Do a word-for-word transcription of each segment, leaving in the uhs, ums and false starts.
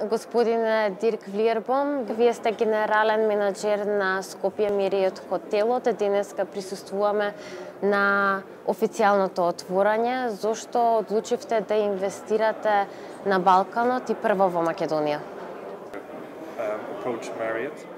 Господине Дирк Влиербом, вие сте генерален менаџер на Скопје Мериот хотелот. Денеска присуствуваме на официјалното отворање. Зошто одлучивте да инвестирате на Балканот и прво во Македонија?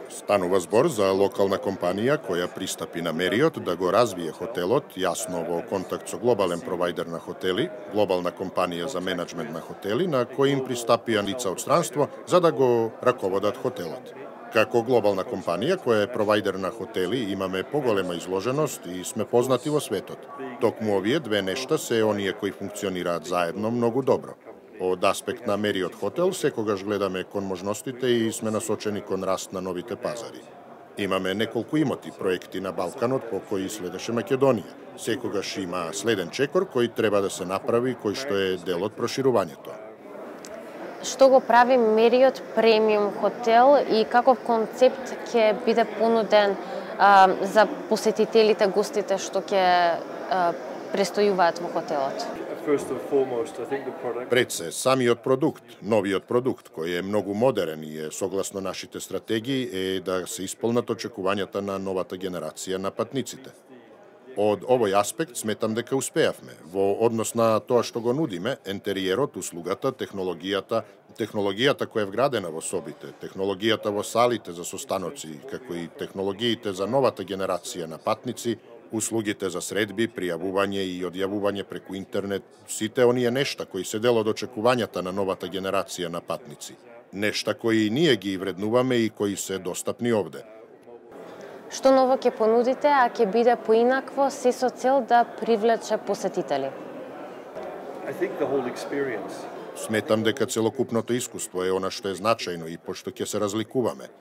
Станува збор за локална компанија која пристапи на Мериот да го развие хотелот, јасно во контакт со глобален провајдер на хотели, глобална компанија за менаџмент на хотели, на кој им пристапија лица од странство за да го раководат хотелот. Како глобална компанија која е провајдер на хотели, имаме поголема изложеност и сме познати во светот. Токму овие две нешта се оние кои функционираат заедно многу добро. Од аспект на Мериот хотел, секогаш гледаме кон можностите и сме насочени кон раст на новите пазари. Имаме неколку имоти проекти на Балканот по кои следеше Македонија. Секогаш има следен чекор кој треба да се направи, кој што е дел од проширувањето. Што го прави Мериот премиум хотел и каков концепт ќе биде понуден а, за посетителите, гостите што ќе престојуваат во хотелот? Пред се, самиот продукт, новиот продукт, кој е многу модерен и е согласно нашите стратегии, е да се исполнат очекувањата на новата генерација на патниците. Од овој аспект сметам дека успеавме. Во однос на тоа што го нудиме, ентериерот, услугата, технологијата, технологијата која е вградена во собите, технологијата во салите за состаноци, како и технологиите за новата генерација на патници, услугите за средби, пријавување и одјавување преку интернет, сите оние нешта кои се дел од очекувањата на новата генерација на патници. Нешта кои ние ги вреднуваме и кои се достапни овде. Што ново ќе понудите, а ќе биде поинакво, се со цел да привлече посетители? Сметам дека целокупното искуство е она што е значајно и пошто ќе се разликуваме.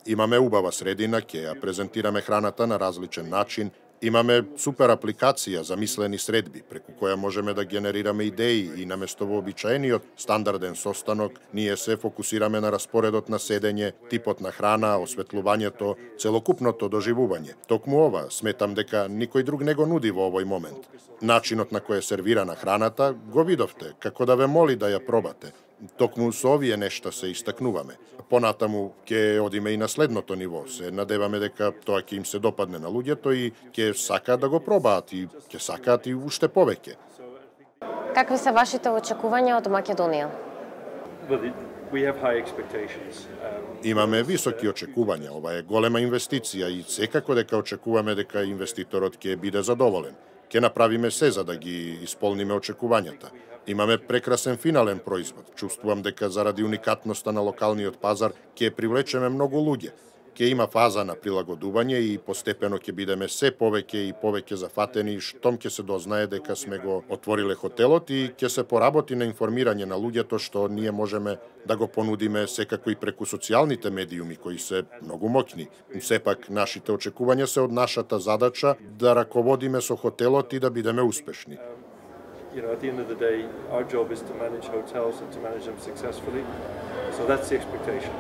Имаме убава средина, ќе ја презентираме храната на различен начин. Имаме супер апликација за мислени средби, преку која можеме да генерираме идеи и наместо вообичаениот стандарден состанок, ние се фокусираме на распоредот на седење, типот на храна, осветлувањето, целокупното доживување. Токму ова, сметам дека никој друг не го нуди во овој момент. Начинот на кој е сервирана храната го видовте, како да ве моли да ја пробате. Токму со овие нешта се истакнуваме. Понатаму ќе одиме и на следното ниво. Се надеваме дека тоа ќе им се допадне на луѓето и ќе сакаат да го пробаат и ќе сакаат и уште повеќе. Какви се вашите очекувања од Македонија? Имаме високи очекувања. Ова е голема инвестиција и секако дека очекуваме дека инвеститорот ќе биде задоволен. Ќе направиме се за да ги исполниме очекувањата. Имаме прекрасен финален производ. Чувствувам дека заради уникатноста на локалниот пазар ќе привлечеме многу луѓе. Ќе има фаза на прилагодување и постепено ќе бидеме се повеќе и повеќе зафатени штом ќе се дознае дека сме го отвориле хотелот и ќе се поработи на информирање на луѓето што ние можеме да го понудиме секако и преку социјалните медиуми кои се многу моќни. Сепак нашите очекувања се од нашата задача да раководиме со хотелот и да бидеме успешни. You know, at the end of the day, our job is to manage hotels and to manage them successfully. So that's the expectation.